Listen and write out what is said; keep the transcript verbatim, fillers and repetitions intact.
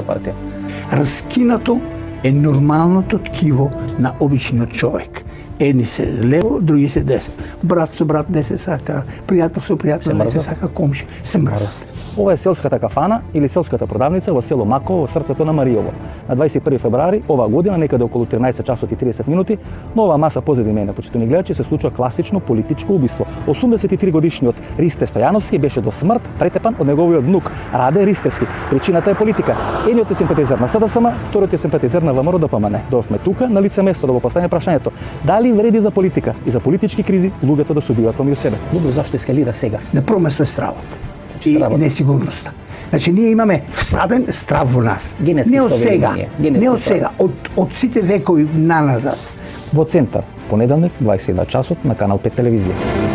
партија. Раскинато е нормалното ткиво на обичниот човек. Едни се лево, други се десно. Брат со брат не се сака, пријател со пријател не се сака, комши се мрзат. Ова е селската кафана или селската продавница во село Маково, во срцето на Мариово. На дваесет и први февруари оваа година, некаде околу тринаесет часот и тридесет минути, на оваа маса позади мене, почитувани гледачи, се случува класично политичко убиство. осумдесет и три годишниот Ристе Стојановски беше до смрт претепан од неговиот внук Раде Ристевски. Причината е политика. Едниот е симпатизер на СДСМ, вториот е симпатизер на ВМРО ДПМН. Дојавме тука на лице место да го поставиме прашањето: дали вреди за политика и за политички кризи луѓето да се убиваат помеѓу себе? Луѓе зашто ескалира сега? На прво место е стравот и несигурноста. Значи ние имаме всаден страв во нас. Генетски не од сега, не од сега, од од сите векови наназад. Во центар, понеделник, дваесет и два часот на Канал пет телевизија.